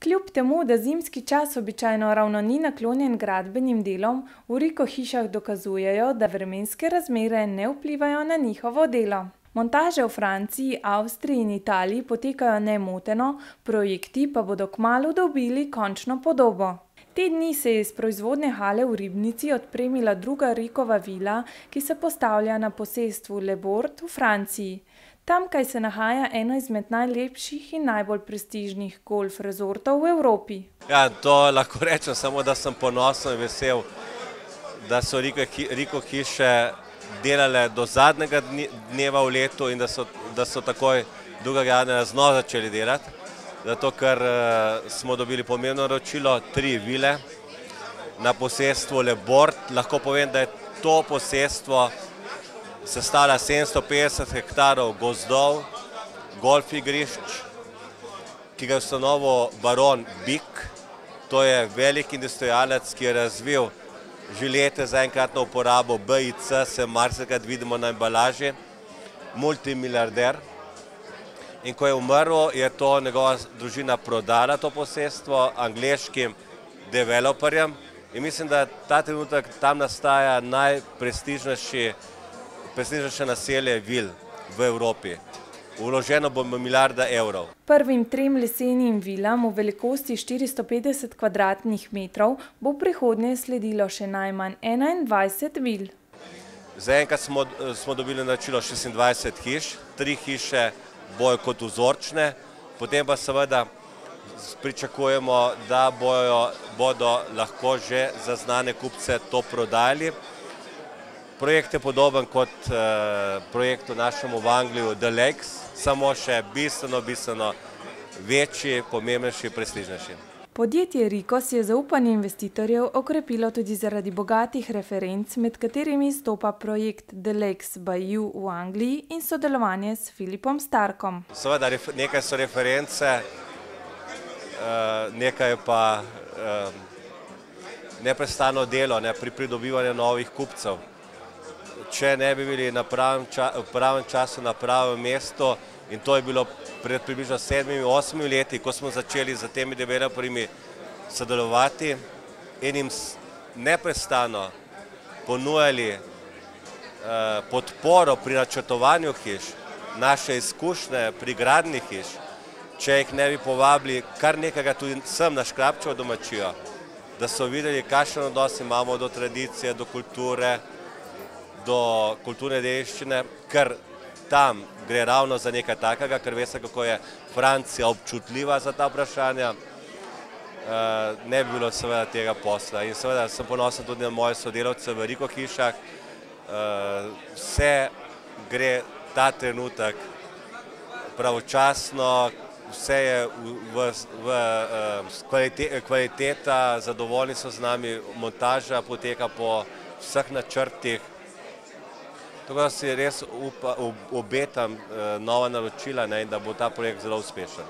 Kljub temu, da zimski čas običajno ravno ni naklonjen gradbenim delom, v Rico hišah dokazujejo, da vremenske razmere ne vplivajo na njihovo delo. Montaže v Franciji, Avstriji in Italiji potekajo nemoteno, projekti pa bodo kmalu dobili končno podobo. Te dni se je iz proizvodne hale v Ribnici odpremila druga Ricova vila, ki se postavlja na posestvu Le Bord v Franciji. Tamkaj se nahaja eno izmed najlepših in najbolj prestižnih golf rezortov v Evropi. Ja, to lahko rečem samo, da sem ponosen in vesel, da so Rico hiše delale do zadnjega dneva v letu in da so takoj 2. januarja znova začeli delati. Zato, ker smo dobili pomembno naročilo, 3 vile na posestvu Le Bord. Lahko povem, da je to posestvo sestavlja 750 hektarov gozdov, golf igrišč, ki ga je ustanovil baron Bik. To je velik industrialec, ki je razvil žilete za enkratno uporabo BIC, se marsikrat vidimo na embalaži, multimiliarder. In ko je umrl, je to njegova družina prodala to posestvo angleškim developerjem in mislim, da ta trenutek tam nastaja najprestižnejše naselje vil v Evropi. Vloženo bo milijarda evrov. Prvim 3 lesenim vilam v velikosti 450 kvadratnih metrov bo v prihodnje sledilo še najmanj 21 vil. Zaenkrat smo dobili naročilo 26 hiš, 3 hiše bojo kot vzorčne, potem pa seveda pričakujemo, da bodo lahko že za znane kupce to prodali. Projekt je podoben kot projektu našemu v Angliji The Lakes, samo še bistveno večji, pomembnejši, prestižnejši. Podjetje Rico si je zaupanje investitorjev okrepilo tudi zaradi bogatih referenc, med katerimi izstopa projekt The Lakes by You v Angliji in sodelovanje s Philipom Starkom. Seveda, nekaj so reference, nekaj pa neprestano delo pri pridobivanju novih kupcev. Če ne bi bili v pravem času na pravem mestu, in to je bilo pred približno 7-8 leti, ko smo začeli z temi developerji sodelovati in jim neprestano ponujali podporo pri načrtovanju hiš, naše izkušnje pri gradnji hiš, če jih ne bi povabili kar nekega tudi sem na Škrabčevo domačijo, da so videli, kakšen odnos imamo do tradicije, do kulture, do kulturne dediščine, ker tam gre ravno za nekaj takega, ker veste, kako je Francija občutljiva za ta vprašanja, ne bi bilo seveda tega posla. In seveda sem ponosen tudi na moje sodelavce v Rico hišah. Vse gre ta trenutek pravočasno, vse je kvaliteta, zadovoljni so z nami, montaža poteka po vseh načrtih. Tako da si res obetam nova naročila in da bo ta projekt zelo uspešen.